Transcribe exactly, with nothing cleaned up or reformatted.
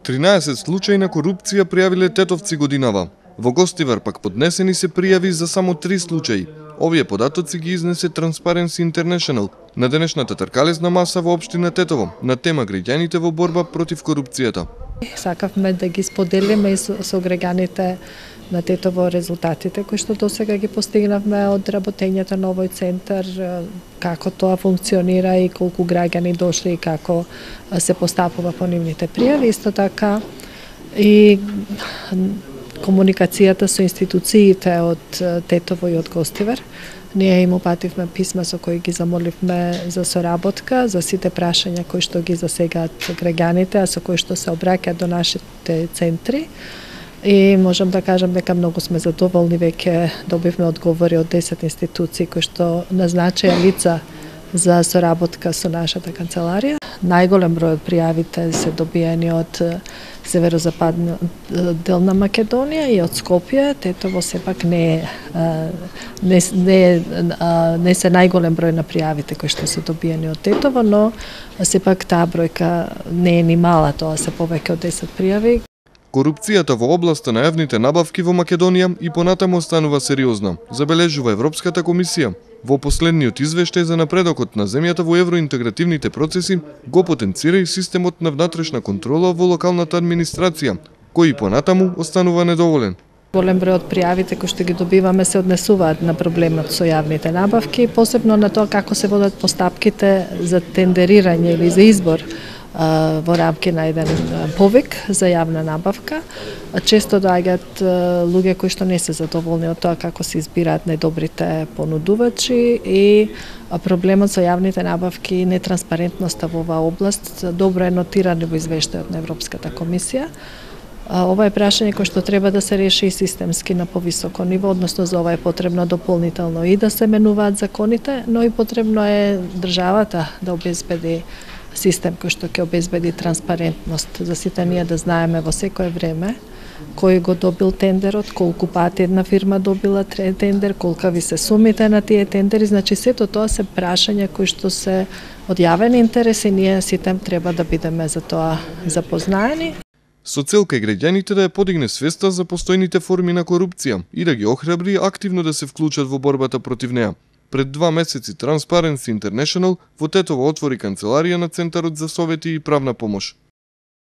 тринаесет случаи на корупција пријавиле тетовци годинава. Во Гостивар пак поднесени се пријави за само три случаи. Овие податоци ги изнесе Transparency International на денешната тркалезна маса во општина Тетово на тема граѓаните во борба против корупцијата. Сакавме да ги споделиме и со, со граѓаните на Тетово резултатите кои што досега ги постигнавме од работењето на овој центар, како тоа функционира и колку граѓани дошли и како се постапува по нивните пријави. Исто така и комуникацијата со институциите од Тетово и од Гостивар. Ние им упативме писма со кои ги замоливме за соработка, за сите прашања кои што ги засегаат граѓаните, а со кои што се обраќаат до нашите центри. И можам да кажам дека многу сме задоволни, веќе добивме одговори од десет институции кои што назначија лица за соработка со нашата канцеларија. Најголем број од пријавите се добиени од северозападниот дел на Македонија и од Скопје. Тетово сепак не е не, не, не се најголем број на пријавите кои што се добиени од Тетово, но сепак таа бројка не е ни мала, тоа се повеќе од десет пријави. Корупцијата во областа на јавните набавки во Македонија и понатаму останува сериозна, забележува Европската комисија. Во последниот извештај за напредокот на земјата во евроинтегративните процеси го потенцира и системот на внатрешна контрола во локалната администрација, кој понатаму останува недоволен. Голем број од пријавите кои што ги добиваме се однесуваат на проблемот со јавните набавки, посебно на тоа како се водат постапките за тендерирање или за избор во рамки на еден повик за јавна набавка. Често доаѓаат луѓе кои што не се задоволни од тоа како се избираат најдобрите понудувачи и проблемот со јавните набавки и нетранспарентноста во оваа област добро е нотирано во извештајот на Европската комисија. Ова е прашање кое што треба да се реши системски на повисоко ниво, односно за ова е потребно дополнително и да се менуваат законите, но и потребно е државата да обезбеди систем кој што ќе обезбеди транспарентност за сите ние да знаеме во секое време кој го добил тендерот, колку пати една фирма добила тендер, колкави се сумите на тие тендери, значи сето тоа се прашања кои што се од јавен интерес и ние сите треба да бидеме за тоа запознаени. Со цел кај граѓаните да ја подигне свеста за постојните форми на корупција и да ги охрабри активно да се вклучат во борбата против неа. Пред два месеци Transparency International во Тетово отвори канцеларија на Центарот за совети и правна помош.